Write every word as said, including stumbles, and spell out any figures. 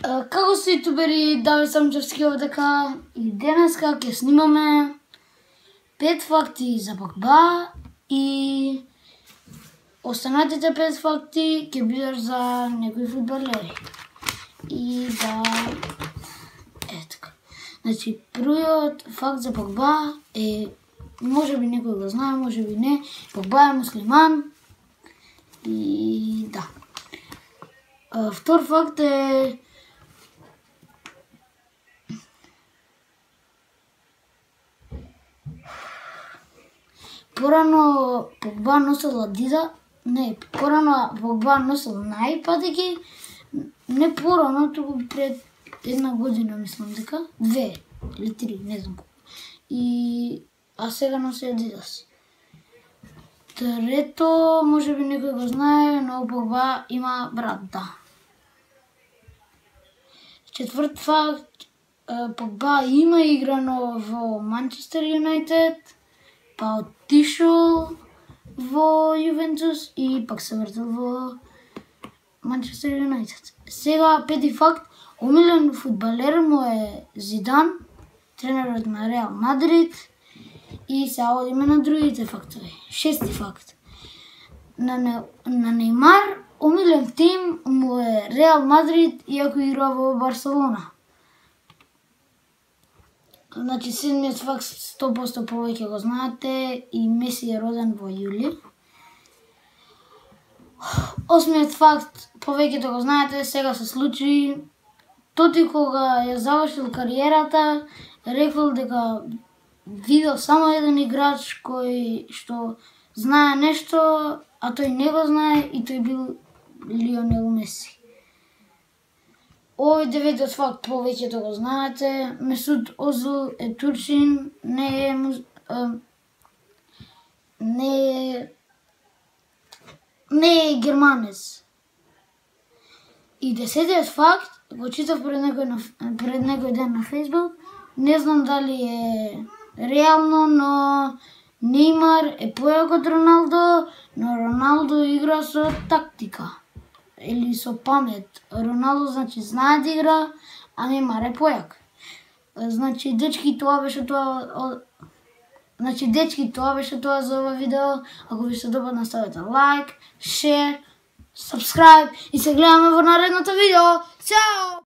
Како се ютубери, Давид Самчевски овдека и денеска ќе снимаме пет факти за Погба и останатите пет факти ќе бидат за некои фудбалери. И да... Е така. Значи, првиот факт за Погба е, може би некој го знае, може би не, Погба е муслиман и да. Втор факт е порано Погба носел Адида, не, порано Погба носел Nike патеки, не порано, туку пред една година мислам дека, две или три, не знам колку. И а сега носи Адидас. Трето, може би некој го знае, но Погба има брат, да. Четврт факт, Погба има играно во Манчестер Юнайтед, па отишол во Јувентус и пак се вратил во Манчестер Юнайтед. Сега пети факт, омилен фудбалер му е Зидан, тренерот на Реал Мадрид, и сега одиме на другите фактори. Шести факт. На, не, на Неймар омилен тим му е Реал Мадрид, иако игра во Барселона. Значи, седмиот факт сто проценти повеќе го знаете, и Меси е роден во јули. Осмиот факт, повеќето го знаете, сега се случи. Тоти кога ја завршил кариерата, рекол дека видел само еден играч кој што знае нешто, а тој не го знае, и тој бил Лионел Меси. Овој деветиот факт повеќето го знаете. Месут Озил е турчин, не е муз... не е не е германец. И десетиот факт го читав пред некој на пред некој ден на Facebook. Не знам дали е реално, но Неймар е појак од Роналдо, но Роналдо игра со тактика или со памет. Роналдо значи знае да игра, а Неймар е појак. Значи дечки, тоа беше тоа. Значи дечки, тоа беше тоа за ова видео. Ако ви се допадна, ставете лайк, шер, subscribe и се гледаме во наредното видео. Чао!